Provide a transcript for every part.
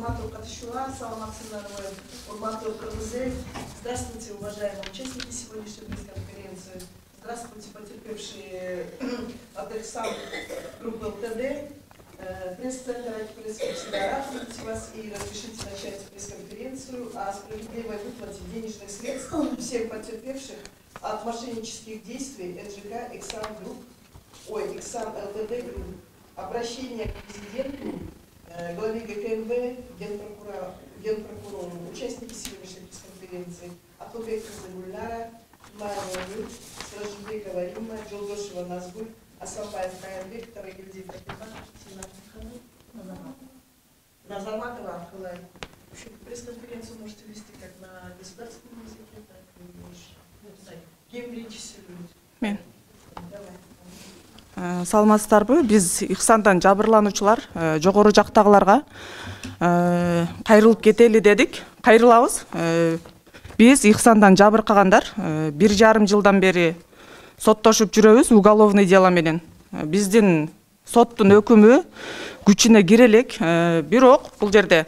урматтуу катышуулар, саламатсыздарбы, урматтуу кыргыз. Здравствуйте, уважаемые участники сегодняшней пресс-конференции. Здравствуйте, потерпевшие от Эксан группы ЛТД. Пресс-центр пресс-секретаря, вас и разрешите начать пресс-конференцию о справедливой выплате денежных средств всем потерпевших от мошеннических действий НЖК Эксан ЛТД Групп. Обращение к президенту, главе ГКНБ, генпрокурору, участники сегодняшней пресс-конференции, Атубек Кызылгульнара, Майя Сражбекова Римма, Жолдошева Назгуль, Асалбаев Каянбек, Тарагильдиев Назарматова Архылай. Пресс-конференцию можете вести как на государственном языке, так и на кем речь сегодня. Саламатсыздарбы, биз Ихсандан жабырлануучулар жогору жактагыларга кайрылып кетели дедик. Кайрылабыз. Биз Ихсандан жабыркагандар 1,5 жылдан бери соттошуп жүрөбүз уголовный дело менен. Биздин соттун өкүмү күчүнө кире элек, бирок бул жерде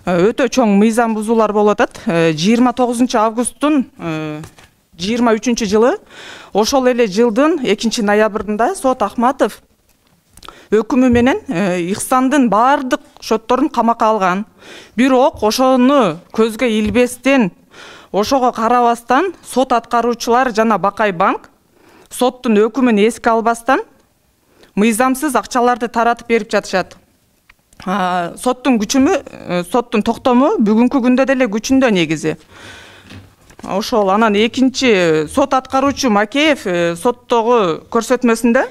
өтө чоң мыйзам бузуулар болуп атат. 29 августтун 23 жылы ошол эле жылдын 2 ноябрында сот Ахматов өкүмү менен Ихсандын баардык шотторун камакка алган. Бирок ошону көзгө илбестен, ошого карабастан сот аткаруучулар жана Бакай банк соттун өкүмүн эске албастан мыйзамсыз акчаларды таратып берип жатышат. Соттун күчүмү, соттун токтому бүгүнкү күндө деле күчүндө негизи. Ошол анан экинчи сот аткаруучу Макеев соттогу көрсөтмөсүндө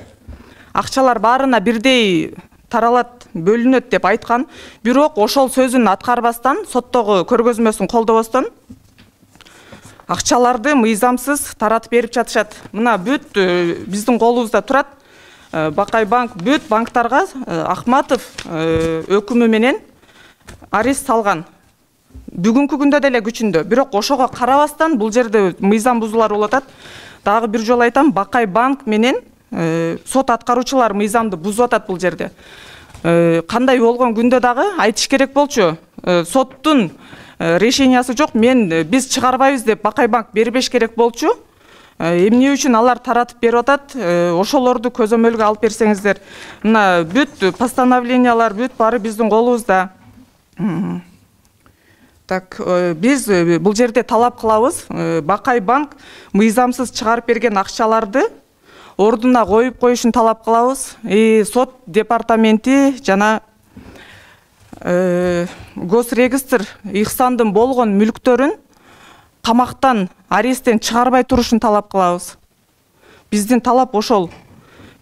акчалар баарына бирдей таралат, бөлүнөт деп айткан. Бирок ошол сөзүн аткарбастан, соттогу көргөзмөсүн колдобостон акчаларды мыйзамсыз таратып берип жатышат. Мына бүт биздин колубузда турат. Бакай банк бүт банктарга Ахматов өкүмү менен арест салган. Бүгүнкү күндө деле күчүндө. Бирок ошого карабастан бул жерде мыйзам бузуулар болуп атат. Дагы бир жолу айтам, Бакай банк менен сот аткаруучулар мыйзамды бузуп атат бул жерде. Кандай болгон күндө дагы айтыш керек болчу. Соттун решениясы жок, биз чыгарбайбыз деп Бакай банк бербеш керек болчу. Эмне үчүн алар таратып берип атат? Ошолорду көзөмөлгө алып берсеңиздер. Мына бүт постановлениялар бүт баары биздин колубузда. Так, биз бул жерде талап кылабыз. Бакай банк мыйзамсыз чыгарып берген акчаларды ордуна коюп коюшун талап кылабыз. Сот департаменти жана Госрегистр Ихсандын болгон мүлктөрүн камактан, аресттен чыгарбай турушун талап кылабыз. Биздин талап ошол.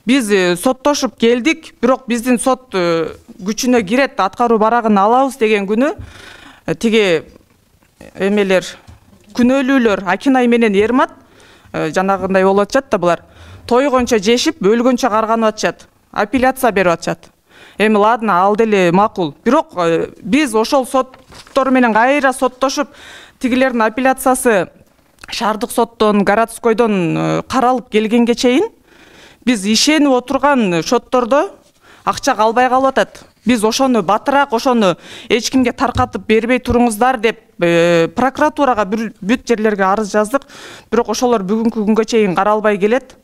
Биз соттошуп келдик, бирок биздин сот күчүнө кирет, аткаруу барагын алабыз деген күнү тиги эмелер, күнөөлүүлөр Акинай менен Ермат жанагындай болуп атышат да булар. Тойгончо жешип, өлгөнчө карганып атышат. Апелляция берип атышат. Эми ладно, ал деле макул. Бирок биз ошол соттор менен кайра соттошуп, тигилердин апелляциясы шаардык соттон, городскойдон каралып келгенге чейин биз ишенип отурган шоттордо акча калбай калып атат. Биз ошону батыраак, ошону эч кимге таркатып бербей туруңуздар деп прокуратурага бүт жерлерге арыз жаздык. Бирок ошолор бүгүнкү күнгө чейин каралбай келет.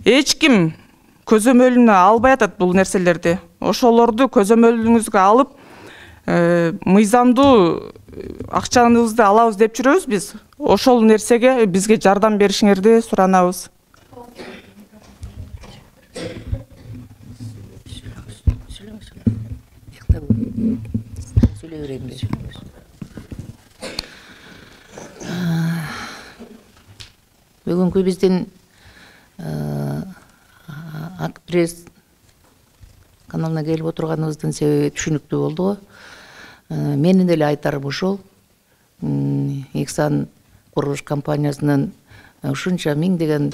Эч ким көзөмөлүнө албай атат бул нерселерди. Ошолорду көзөмөлүңүзгө алып, мыйзамдуу акчаңызды алабыз деп жүрөбүз биз. Ошол нерсеге бизге жардам беришиңерди суранабыз. Бүгүнкү биздин пресс каналына келип отурганыбыздын себеби түшүнүктүү болду. Менин деле айтарым ушул. Ихсан курулуш компаниясынын ушунча миңдеген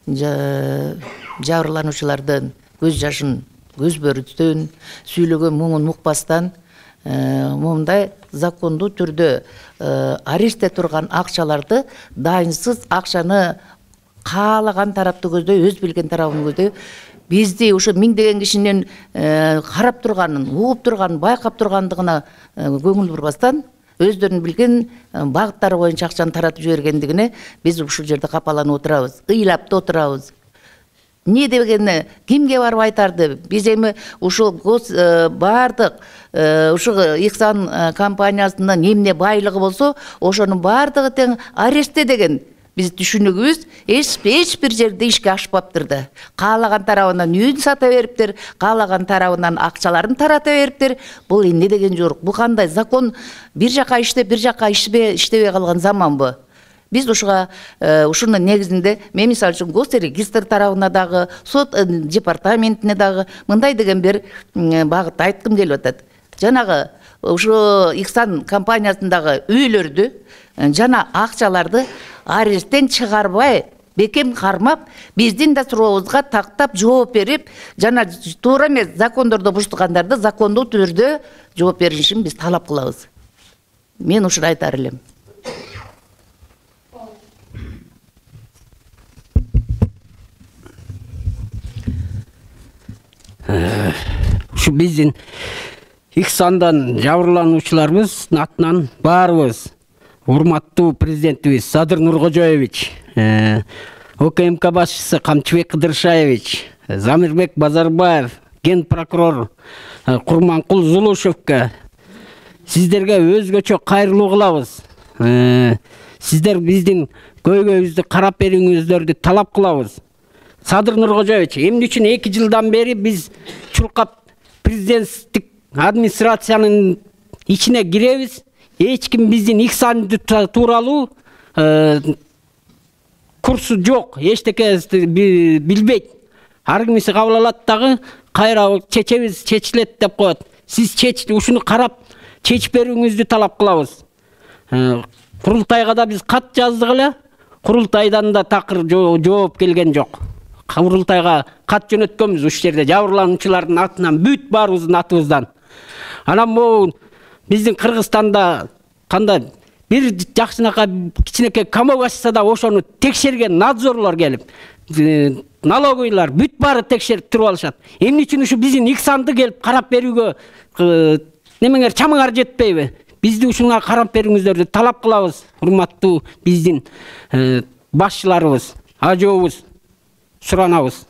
жабырлануучулардын көз жашын көзбөрүстөн, сүйлөгөн муңун укпастан момундай закондуу түрдө арештте турган акчаларды дайынсыз акчаны каалаган тарапты көздөй, өз билген тарабын көздөй бизди ушу миңдеген кишинин карап турганын, угуп турганын, байкап тургандыгына көңүл бурбастан өздөрүнүн билген багыттары боюнча акчаны таратып жибергендигине биз ушул жерде капаланып отурабыз, ыйлап да отурабыз. Не дегенде кимге барып айтарды? Биз эми ушул бардык ушул Ихсан компаниясынын эмне байлыгы болсо, ошонун бардыгы тең арештте деген биз түшүнүгүбүз эч бир жерде ишке ашпаптыр да. Каалаган тарабынан үйүн сата бериптир, каалаган тарабынан акчаларын тарата бериптир. Бул эмне деген жок? Бул кандай закон? Бир жака иштеп, бир жака иштебей калган заманбы? Биз ушунун негизинде мен мисалы үчүн госрегистр тарабына дагы, сот департаментине дагы мындай деген бир багытта айткым келип атат. Жанагы ушу Ихсан компаниясындагы үйлөрдү жана акчаларды аресттен чыгарбай, бекем кармап, биздин да сурообузга тактап жооп берип, жана туура эмес закондорду буштугандарды закондуу түрдө жооп беришин биз талап кылабыз. Мен ушуну айтар элем. Ушу биздин Ихсандан жабырлануучуларыбыз атынан баарыбыз урматтуу президентибиз Садыр Нуркожоевич, ОКМК башчысы Камчыбек Кыдыршаевич, Замирбек Базарбаев, ген прокурор Курманкул Зулушевке сиздерге өзгөчө кайрылуу кылабыз. Сиздер биздин көйгөйүбүздү карап берүүңүздөрдү талап кылабыз. Садыр Нуркожоевич, эмне үчүн 2 жылдан бери биз чуркап президенттик администрациянын ичине киребиз. Эч ким биздин Ихсанды тууралуу курсу жок, эчтекеси билбейт. Ар кимиси кабыл алат дагы, кайра чечебиз, чечилет деп коет. Сиз ушуну карап чечип берүүңүздү талап кылабыз. Курултайга да биз кат жаздык эле. Курултайдан да такыр жооп келген жок. Курултайга кат жөнөткөнбүз ушул жерде жабырлануучулардын атынан, бүт баарыбыздын атыбыздан. Анан могу биздин Кыргызстанда кандай бир жакшынака кичинекей камок ачса да ошону текшерген надзорлор келип, налоговыйлар бүт баары текшерип туруп алышат. Эмне үчүн ушу биздин Ихсанды келип карап берүүгө немеңер чамыңар жетпейби? Бизди ушуга карап берүүңүздөрдү талап кылабыз, урматтуу биздин башчыларыбыз, ажообуз, суранабыз.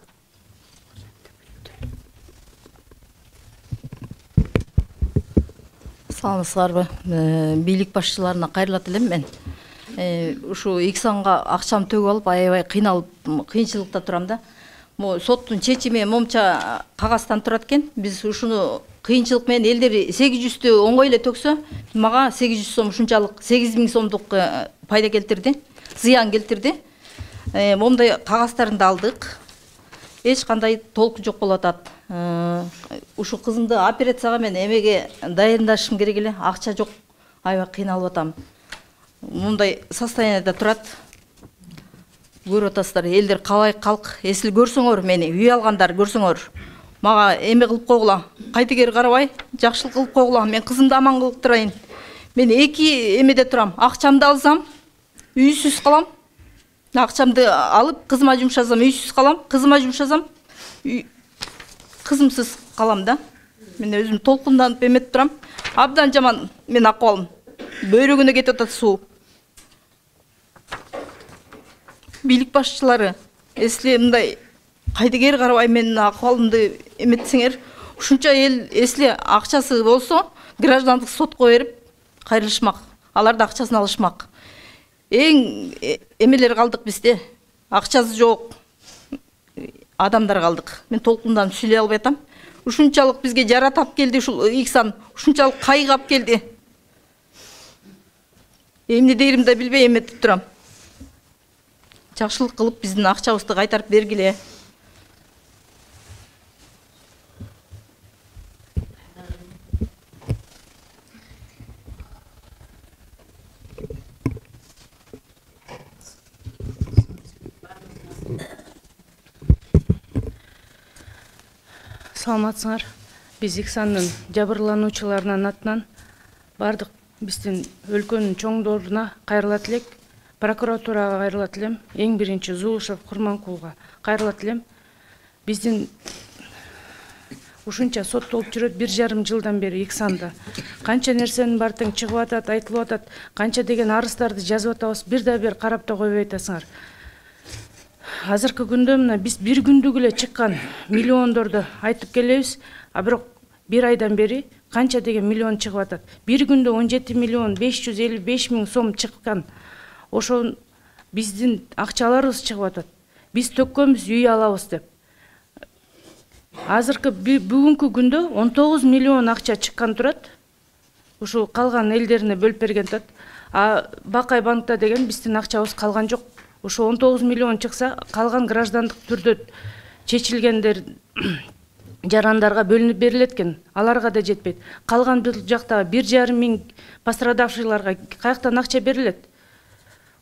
Саламатсыздарбы? Бийлик башчыларына кайрылат элем мен. Ушу Ихсанга акчам төгүп алып, аябай кыйналып, кыйынчылыкта турам да. Могу соттун чечими момча кагаздан турат экен. Биз ушуну кыйынчылык менен элдер 800тү оңгой эле төксө, мага 800 сом ушунчалык 8000 сомдук пайда келтирди, зыян келтирди. Момдай кагаздарын алдык. Эч кандай толку жок болуп атат. Ушу кызымды операцияга мен эмеге дайындашым керек эле, акча жок. Аябай кыйналып атам. Мындай состояниеда турат. Көрүп атасыздар, элдер калай калк, эсил көрсөңөр мени, үй алгандар көрсөңөр. Мага эме кылып койгула, кайтыгер карабай, жакшылык кылып койгула, мен кызымды аман кылып турайын. Мен 2 эмеде турам, акчамды алсам, үйсүз калам. Акчамды алып, кызыма жумшасам, үйсүз калам, кызыма жумшасам, кызымсыз калам да. Мен өзүм толкунданып эметип турам. Абдан жаман мен акыбалым. Бөйрөгүнө кетип атат суу. Бийлик башчылары, эсли мындай кайдыгер карабай менин акыбалымды эметсеңер, ушунча эл эсли акчасы болсо, граждандык сотко берип кайрылышмак. Алар да акчасын алышмак. Эң эмелер калдык бизде. Акчасы жок. Адамдар калдык. Мен толкундан сүйлөй албай атам. Ушунчалык бизге жаратап келди ушул Ихсан, ушунчалык кайгап келди. Эмне дейримди да билбей эметип турам. Жакшылык кылып биздин акчабызды кайтарып бергиле. Саламатсыңар. Биз Ихсандын жабырлануучуларынын атынан бардык биздин өлкөнүн чоңдоруна кайрылат элек, прокуратурага кайрылат элем, эң биринчи Зулушев Курманкулга кайрылат элем. биздин ушунча соттолуп жүрөт 1,5 жылдан бери Иксанда. Канча нерсенин баары тең чыгып атат, айтылып атат, канча деген арыздарды жазып атабыз, бир да бир карап да койбой атасыңар. Азыркы күндө мына биз бир күндүк эле чыккан миллиондорду айтып келебиз, а бирок бир айдан бери канча деген миллион чыгып атат. Бир күндө 17 миллион 555 миң сом чыккан. Ошо биздин акчаларыбыз чыгып атат. Биз төккөнбүз үй алабыз деп. Азыркы бүгүнкү күндө 19 миллион акча чыккан турат. Ушул калган элдерине бөлүп берген турат. А Бакай банкта деген биздин акчабыз калган жок. Ошо 19 миллион чыкса, калган граждандык түрдө чечилгендер жарандарга бөлүнүп берилет экен. Аларга да жетпейт. Калган бул жакта 1,5 миң пострадавшийларга каяктан акча берилет?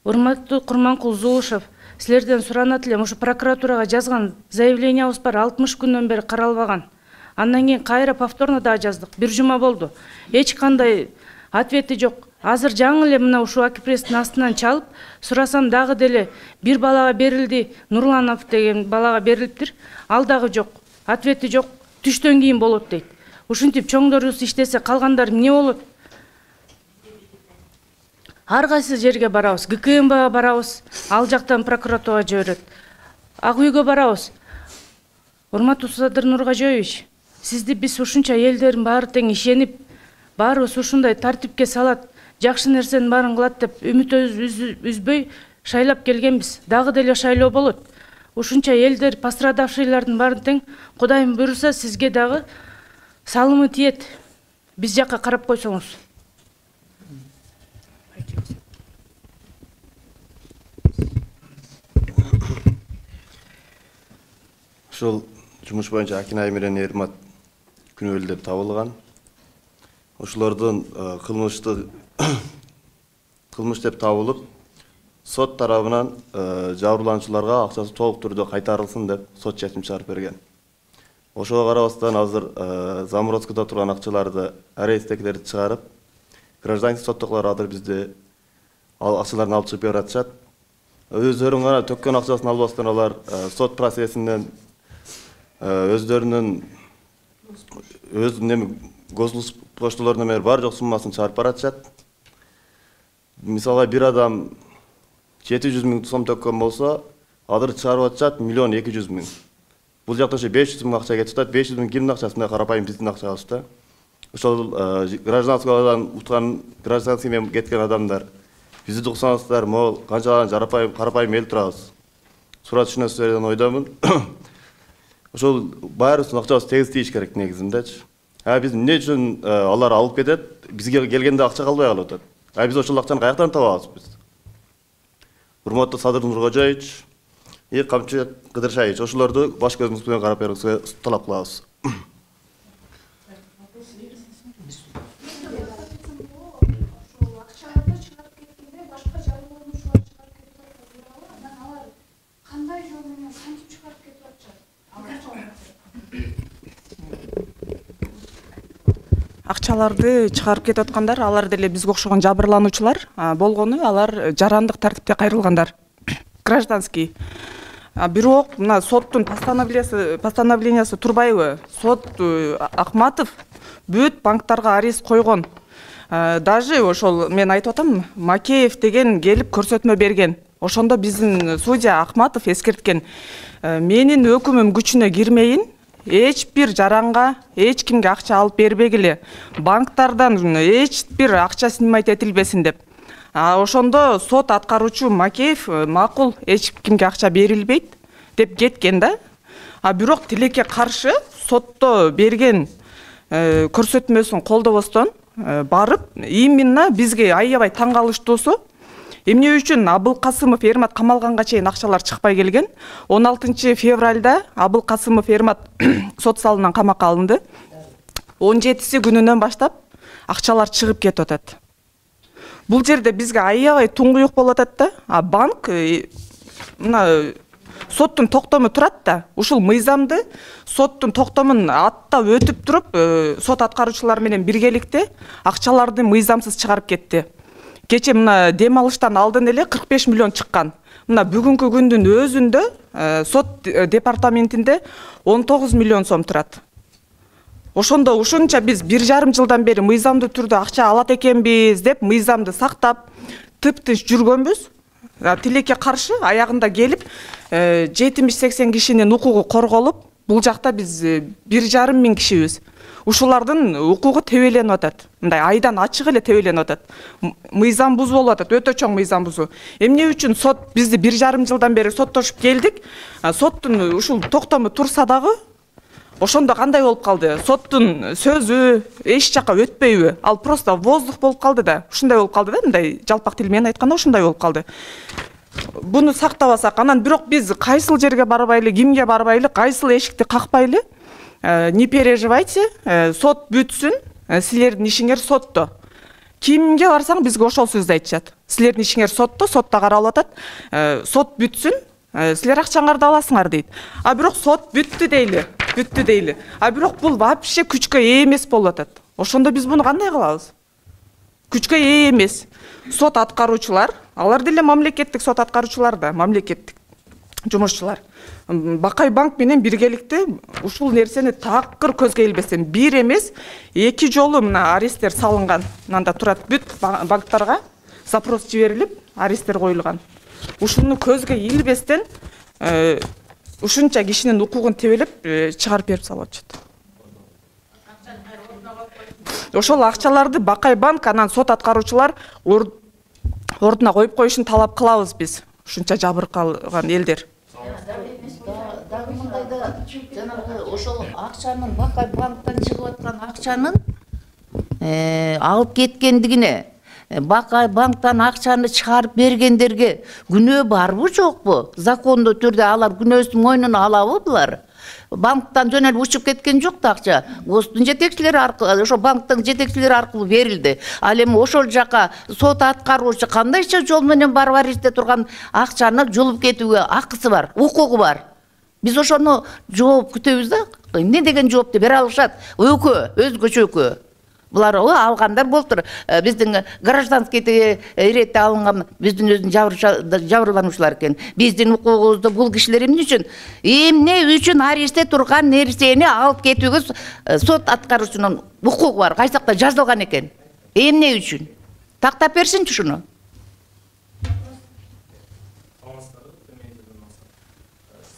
Урматтуу Курманкул Зулушев, силерден суранат элем, ушу прокуратурага жазган заявлениябыз бар, 60 күндөн бери каралбаган. Андан кийин кайра повторно дагы жаздык. Бир жума болду. Эч кандай ответи жок. Азыр жаңы эле мына ушул Акипресстин астынан чалып, сурасам дагы деле бир балага берилди, Нурланов деген балага берилиптир. Ал дагы жок. Ответи жок. Түштөн кийин болот дейт. Ушинтип чоңдорубуз иштесе, калгандар эмне болот? Ар кайсы жерге барабыз, ГКМБга барабыз, ал жактан прокуратурага жиберет. Ак үйгө барабыз. Урматтуу Садыр Нургажоевич, сизди биз ушунча элдердин баары тең ишенип, баарыбыз ушундай тартипке салат, жакшы нерсенин баарын кылат деп үмүт үзбөй шайлап келгенбиз. Дагы деле шайлоо болот. Ушунча элдер пострадавшийлардын баарын тең Кудайым буйруса сизге дагы салымы тиет. Биз жакка карап койсоңуз. Ушул жумуш боюнча Акинай менен Эрмат күнөөлүү деп табылган. Ошолордун кылмыш деп табылып, сот тарабынан жабырлануучуларга акчасы толук түрдө кайтарылсын деп сот чечим чыгарып берген. Ошого карабастан азыр Заморозкода турган акчаларды арестектерди чыгарып, гражданский соттоклор азыр бизде акчаларын алып чыгып берип атышат. Өздөрүнүн гана төккөн акчасын албастан алар сот процессинен өздөрүнүн госпоштолорунан бери бар жок суммасын чыгарып баратышат. Мисалга бир адам 700 миң сом төккөн болсо, азыр чыгарып атышат 1,2 миллион. Бул жакта ошо 500 миң акча кетип атат. 500 миң кимдин акчасында? Карапайым биздин акчабыз да. Ошол гражданскийдан уткан, гражданский менен кеткен адамдар бизди уксаңыздар, могул канчалаган карапайым эл турабыз. Сурат түшүнөсүздөр деген ойдомун. Ошол баарыбыздын акчабыз тегиз тийиш керек негизиндечи. Биз эмне үчүн алар алып кетет, бизге келгенде акча калбай калып атат. Биз ошол акчаны каяктан табабыз биз? Урматтуу Садыр Нургожоевич, Камчы Кыдыршаевич, ошолорду баш көзүңүз менен карап берүүңүзгө талап кылабыз. Акчаларды чыгарып кетип аткандар, алар деле бизге окшогон жабырлануучулар болгону, алар жарандык тартипте кайрылгандар. Гражданский. Бирок мына соттун постановлениясы турбайбы? Сот Акматов бүт банктарга арест койгон. Даже ошол мен айтып атам, Макеев деген келип көрсөтмө берген. Ошондо биздин судья Акматов эскерткен. Менин өкүмүм күчүнө кирмейин, эч бир жаранга, эч кимге акча алып бербегиле. Банктардан эч бир акча снимать этилбесин деп. Ошондо сот аткаруучу Макеев макул, эч кимге акча берилбейт деп кеткен да. Бирок тилекке каршы сотто берген көрсөтмөсүн колдобостон барып, именно бизге аябай таң калыштуусу, эмне үчүн Абылкасымов Эрмат камалганга чейин акчалар чыкпай келген. 16 февралда Абылкасымов Эрмат сот залынан камакка алынды. 17 күнүнөн баштап акчалар чыгып кетип атат. Бул жерде бизге аябай туңгуюк болуп атат да. Банк мына соттун токтому турат да. Ушул мыйзамды соттун токтомун аттап өтүп туруп, сот аткаруучулар менен биргеликте акчаларды мыйзамсыз чыгарып кетти. кече мына дем алыштан алдын эле 45 миллион чыккан. Мына бүгүнкү күндүн өзүндө сот департаментинде 19 миллион сом турат. Ошондо ушунча биз 1,5 жылдан бери мыйзамдуу түрдө акча алат экенбиз деп мыйзамды сактап тыптынч жүргөнбүз. Тилекке каршы аягында келип 70-80 кишинин укугу корголуп, бул жакта биз 1,5 миң кишибиз. Ушулардын укугу тебеленип атат. Мындай айдан ачык эле тебеленип атат. Мыйзам бузуу болуп атат, өтө чоң мыйзам бузуу. Эмне үчүн сот бизди 1,5 жылдан бери соттошуп келдик? Соттун ушул токтому турса дагы ошондо кандай болуп калды? Соттун сөзү эч жака өтпөйбү? Ал просто воздух болуп калды да. Ушундай болуп калды да, мындай жалпак тил менен айтканда ушундай болуп калды. Буну сактабасак, анан бирок биз кайсыл жерге барбайлы, кимге барбайлы, кайсыл эшикти какпайлы, не переживайте, сот бүтсүн, силердин ишиңер сотто. Кимге барсаң бизге ошол сөздү айтышат. Силердин ишиңер сотто, сотто каралып атат. Сот бүтсүн, силер акчаңарды аласыңар дейт. А бирок сот бүттү дейли. А бирок бул вообще күчкө ээ эмес болуп атат. Ошондо биз буну кандай кылабыз? Күчкө ээ эмес. Сот аткаруучулар, алар деле мамлекеттик сот аткаруучулар да, мамлекеттик жумушчулар. Бакай банк менен биргеликте ушул нерсени такыр көзгө илбестен 1 эмес, 2 жолу мына аресттер салынган. Мында турат бүт банктарга запрос жиберилип, аресттер коюлган. Ушуну көзгө илбестен ушунча кишинин укугун тебелеп чыгарып берип салып атышат. Ошол акчаларды Бакай банк анан сот аткаруучулар ордуна коюп коюшун талап кылабыз биз. Ушунча жабыркалган элдер. Дагы мындайда жанагы ошол акчанын Бакай банктан чыгып аткан акчанын алып кеткендигине Бакай банктан акчаны чыгарып бергендерге күнөө барбы жокпу? Закондуу түрдө алар күнөөсүн мойнуна алабы булар? Банктан жөн эле учуп кеткен жок да акча. ГОСТун жетекчилери аркылуу, ошо банктын жетекчилери аркылуу берилди. Ал эми ошол жака сот аткаруучу кандайча жол менен барып арестте турган акчаны жулуп кетүүгө акысы бар, укугу бар. Биз ошону жооп күтөбүз да. Эмне деген жоопты бере алышат? Өзгөчө өкөө. Булар алгандар болуптур. Биздин гражданский иретте алынган биздин өзүн жабырлануучулар экен. Биздин укугубузду бул кишилер эмне үчүн арестте турган нерсени алып кетүүгө сот аткаруучунун укугу бар. Кайсакта жазылган экен. Эмне үчүн? Тактап берсинчи ушуну.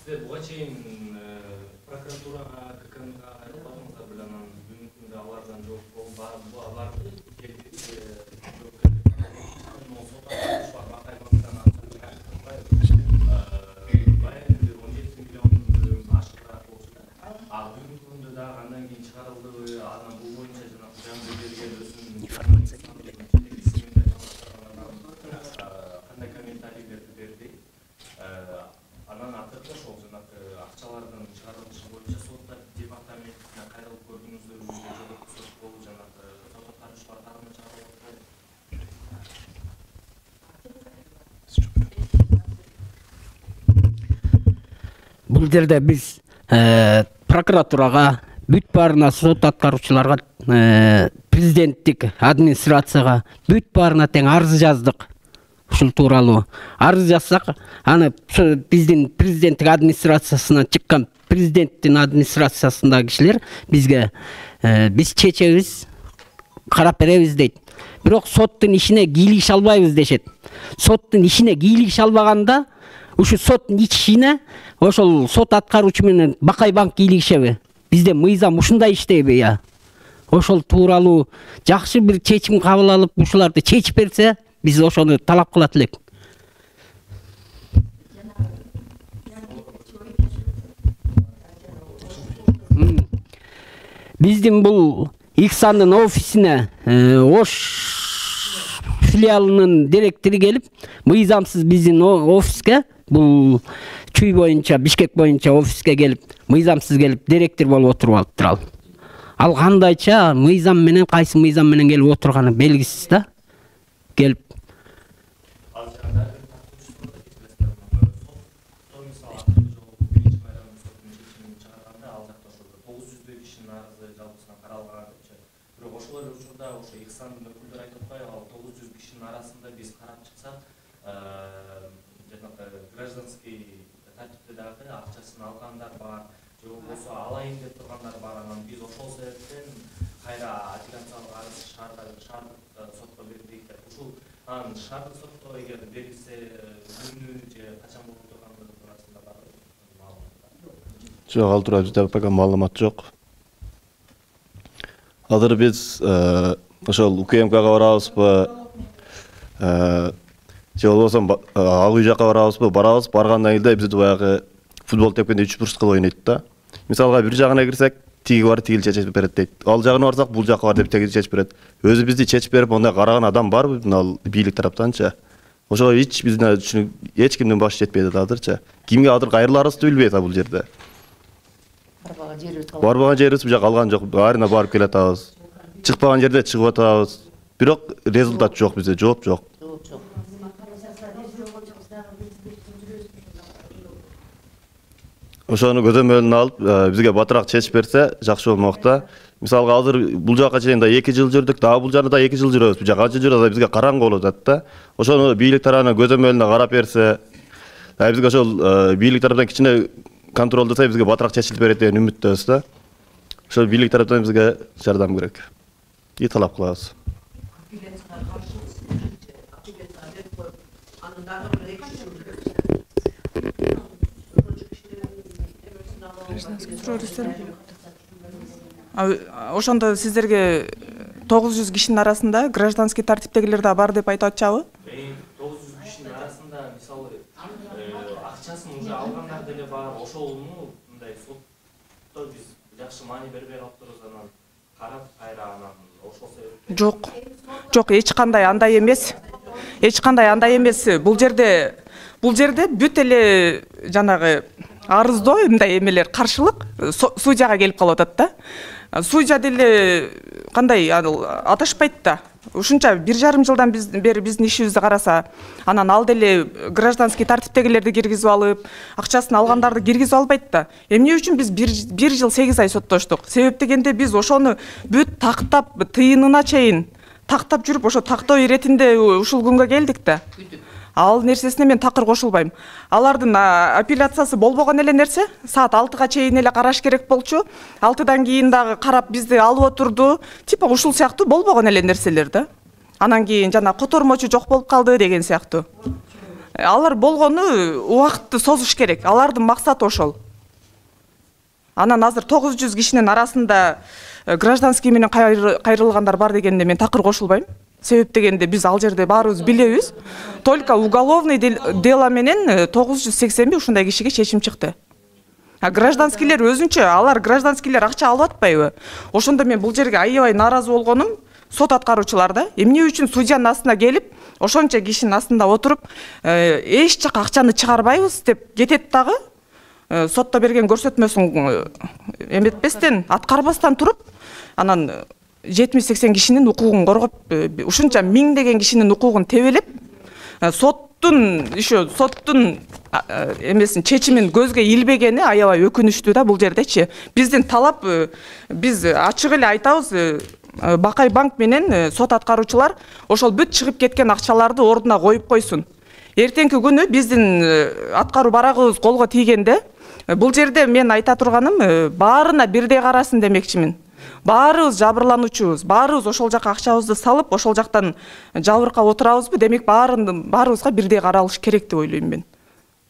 Сиздер буга чейин прокуратурага, ККМга айрылбадыңыздар беле, анан бүгүнкү күндө алардан жооп аларды келип баягы 17 миллион ашыгыраак болчу да. А бүгүнкү күндө дагы андан кийин чыгарылдыбы, анан бул боюнча жана жаңы берген өзүнүн информация кандай комментарийлерди берди. Анан акыркы ошол жанагы акчалардын чыгарылышы боюнча сот департаментине кайрылып көрдүңүздөрбү, жогорку сот болуп жанагы сот аткаруучулар тарабынан чыгарылып атпайбы? Бул жерде биз прокуратурага, бүт баарына сот аткаруучуларга, президенттик администрацияга, бүт баарына тең арыз жаздык. Ушул тууралуу арыз жазсак, аны биздин президенттик администрациясынан чыккан президенттин администрациясындагы кишилер бизге биз чечебиз, карап беребиз дейт. Бирок соттун ишине кийлигише албайбыз дешет. Соттун ишине кийлигише албаганда ушу соттун ишине ошол сот аткаруучу менен Бакай банк кийлигишеби? Бизде мыйзам ушундай иштейби я? Ошол тууралуу жакшы бир чечим кабыл алып, ушуларды чечип берсе, биз ошону талап кылат элек. Биздин бул Ихсандын офисине Ош филиалынын директору келип, мыйзамсыз биздин офиске, бул Чүй боюнча, Бишкек боюнча офиске келип, мыйзамсыз келип, директор болуп отуруп алыптыр ал. Ал кандайча мыйзам менен, кайсы мыйзам менен келип отурганы белгисиз да. Келип ошол эле учурда ошо Ихсандын өкүлдөрү айтып атпайбы, ал 900 кишинин арасында биз карап чыксак, жанагы гражданский тартипте дагы акчасын алгандар бар, же болбосо алайын деп тургандар бар. Анан биз ошол себептен кайра апелляциялык арыз шаардык сотко бердик. Ушул анан шаардык сотто эгер берилсе күнү же качан болуп тургандыгы туурасында барбы маалымат? Жок, ал тууралуу bizde пока маалымат жок. Азыр биз ошол УКМКга барабызбы, же болбосо ак үй жака барабызбы? Барабыз. Баргандан кийин бизди баягы футбол тепкенде 3 бурчка кылып ойнойт да. Мисалга бир жагына кирсек, тиги бар, тигил чечип берет дейт. Ал жагына барсак, бул жакка бар деп теги чечип берет. Өзү бизди чечип берип, ондай караган адам барбы? Ал бийлик тараптанчы. Ошого эч биздин эч кимдин башы жетпей атат азырчы. Кимге азыр кайрыларыбызды билбей атат бул жерде. Барбаган жерибиз бул жака калган жок. Баарына барып келе атабыз. Чыкпаган жерде чыгып атабыз. Бирок результат жок бизде, жооп жок. Ошону көзөмөлүнө алып, бизге батыраак чечип берсе, жакшы болмок да. Мисалга азыр бул жака чейин да 2 жыл жүрдүк, дагы бул жерде да 2 жыл жүрөбүз. Бул жака канча жүрөбүз, бизге караңгы болуп атат да. Ошону бийлик тарабынан көзөмөлүнө карап берсе, бизге ошол бийлик тарабынан кичине контролдоса, бизге батыраак чечилип берет деген үмүттөбүз да. Ошол бийлик тарабынан бизге жардам керек. И талап кылабыз. Ошондо сиздерге 900 кишинин арасында гражданский тартиптегилер да бар деп айтып атчабы? 900 кишинин арасында мисалы акчасын уже алгандар деле бар. Ошолну мындай сотто биз жакшы маани бербей калыптырбыз, анан карап кайра анан ошол себептен. Жок, эч кандай андай эмес. Эч кандай андай эмес. Бул жерде бүт эле жанагы арыздоо мындай эмелер каршылык судьяга келип калып атат да. Судья деле кандай аташпайт да. Ушунча 1,5 жылдан бери биздин ишибизди караса, анан ал деле гражданский тартиптегилерди киргизип алып, акчасын алгандарды киргизип албайт да. Эмне үчүн биз 1 жыл 8 ай соттоштук? Себеп дегенде биз ошону бүт тактап, тыйынына чейин тактап жүрүп, ошо тактоо иретинде ушул күнгө келдик да. Ал нерсесине мен такыр кошулбайм. Алардын апелляциясы болбогон эле нерсе. Саат 6га чейин эле караш керек болчу. 6дан кийин дагы карап бизди алып отурду. Типа ушул сыяктуу болбогон эле нерселер да. Анан кийин жана котормочу жок болуп калды деген сыяктуу. Алар болгону убакытты созуш керек. Алардын максаты ошол. Анан азыр 900 кишинин арасында гражданский менен кайрылгандар бар дегенде мен такыр кошулбайм. Себеп дегенде биз ал жерде баарыбыз билебиз. Только уголовный дело менен 980 ушундай кишиге чечим чыкты. Гражданскийлер өзүнчө, алар гражданскийлер акча алып атпайбы? Ошондо мен бул жерге аябай нааразы болгонум сот аткаруучулар да. Эмне үчүн судьянын астына келип, ошончо кишинин астында отуруп, эч жака акчаны чыгарбайбыз деп кетет дагы. Сотто берген көрсөтмөсүн эметпестен, аткарбастан туруп, анан 70-80 кишинин укугун коргоп, ушунча миңдеген кишинин укугун тебелеп, соттун эмесин чечимин көзгө илбегени аябай өкүнүчтүү да бул жердечи. Биздин талап, биз ачык эле айтабыз, Бакай банк менен сот аткаруучулар ошол бүт чыгып кеткен акчаларды ордуна коюп койсун. Эртеңки күнү биздин аткаруу барагыбыз колго тийгенде, бул жерде мен айта турганым, баарына бирдей карасын демекчимин. Баарыбыз жабырлануучубуз, баарыбыз ошол жака акчабызды салып, ошол жактан жабыркап отурабызбы, демек баарыбызга бирдей каралыш керек деп ойлойм мен.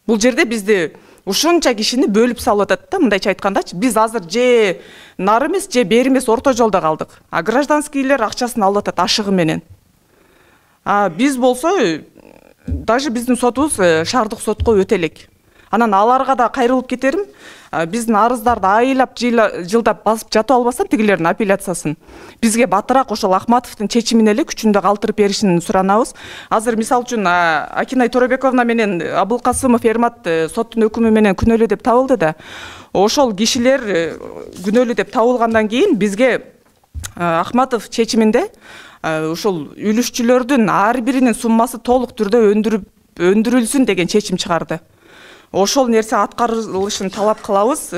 Бул жерде бизди ушунча кишини бөлүп салып атат да, мындайча айткандачы. Биз азыр же нары эмес, же бери эмес, орто жолдо калдык. Гражданскийлер акчасын алып атат ашыгы менен. Биз болсо, даже биздин сотубуз шаардык сотко өтө элек. Анан аларга да кайрылып кетерим. Биздин арыздарды айлап жылдап басып жатып албастан тигилердин апелляциясын бизге батыраак ошол Ахматовдун чечимин эле күчүндө калтырып беришин суранабыз. Азыр мисал үчүн Акинай Торобековна менен Абылкасымов Эрмат соттун өкүмү менен күнөөлүү деп табылды да. Ошол кишилер күнөөлүү деп табылгандан кийин бизге Ахматов чечиминде ошол үлүшчүлөрдүн ар биринин суммасы толук түрдө өндүрүлсүн деген чечим чыгарды. Ошол нерсе аткарылышын талап кылабыз.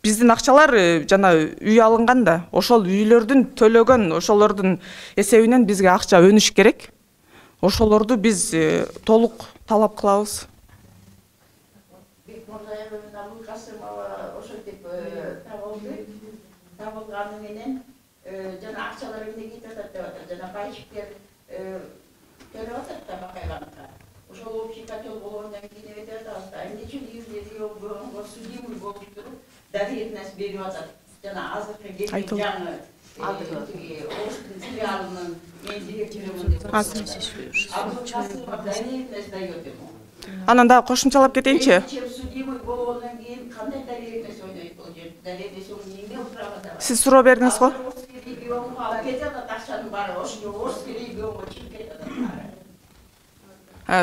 Биздин акчалар жана үй алынган да, ошол үйлөрдүн төлөгөн ошолордун эсебинен бизге акча өнүш керек. ошолорду биз толук талап кылабыз. Табылганы менен жана акчалар эмне кетип атат деп атат. Жана пайчиктер төлөп атат да Бакайбанкка. Ошол общий котел болгондон кийин эметип атабыз да. Эмне үчүн үйүндө судимый болуп туруп доверенность берип атат. Жана азыркы келген жаңы Оштун филиалынын мен директорумун деп атат. Доверенность дает ему. Анан дагы кошумчалап кетейинчи. Судимый болгондон кийин кандай доверенность ойнойт бул жер? Доверенность эмне правда? Сиз суроо бердиңиз го?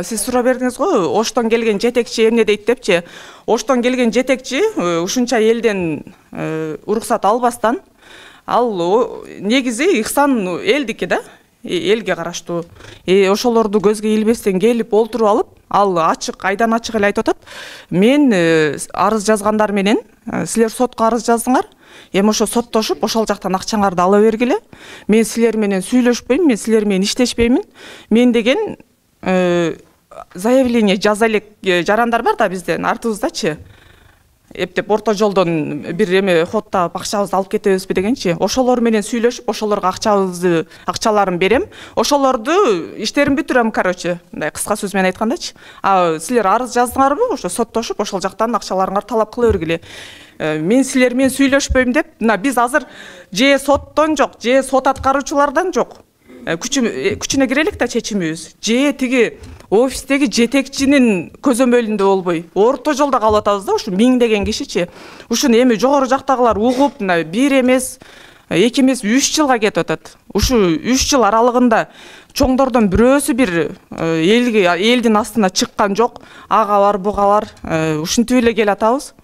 Сиз суроо бердиңиз го, Оштон келген жетекчи эмне дейт депчи. Оштон келген жетекчи ушунча элден уруксат албастан, ал негизи Ихсан элдики да, элге караштуу. Ошолорду көзгө илбестен келип олтуруп алып, ал ачык, айдан ачык эле айтып атат. Мен арыз жазгандар менен силер сотко арыз жаздыңар. Эми ошо соттошуп, ошол жактан акчаңарды ала бергиле. Мен силер менен сүйлөшпөйм, мен силер менен иштешпеймин. Мен деген заявление жаза элек жарандар бар да бизден артыбыздачы. Эптеп орто жолдон бир эме ход таап акчабызды алып кетебизби дегенчи. Ошолор менен сүйлөшүп, ошолорго акчаларын берем. Ошолорду иштерин бүтүрөм, короче, мындай кыска сөз менен айткандачы. Силер арыз жаздыңарбы? Ошо соттошуп, ошол жактан акчаларыңарды талап кыла бергиле. Мен силер менен сүйлөшпөйм деп, биз азыр же соттон жок, же сот аткаруучулардан жок. Күчүнө кире элек да чечимибиз. Же тиги офистеги жетекчинин көзөмөлүндө болбой, орто жолдо калып атабыз да, ушу миңдеген кишичи. Ушуну эми жогору жактагылар угуп, бир эмес, эки эмес, 3 жылга кетип атат. Ушу 3 жыл аралыгында чоңдордон бирөөсү бир элдин астына чыккан жок. Ага бар, буга бар, ушинтип эле келе атабыз.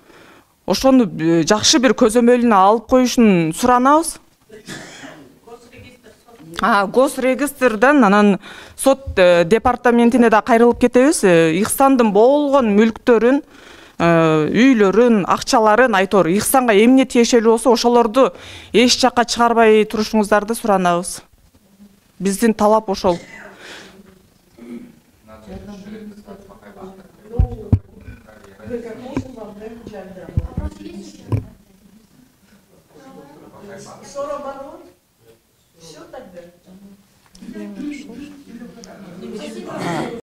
Ошону жакшы бир көзөмөлүнө алып коюшун суранабыз. Госрегистрден анан сот департаментине да кайрылып кетебиз. Ихсандын болгон мүлктөрүн, үйлөрүн, акчаларын айтор Ихсанга эмне тиешелүү болсо, ошолорду эч жакка чыгарбай турушуңуздарды суранабыз. Биздин талап ошол.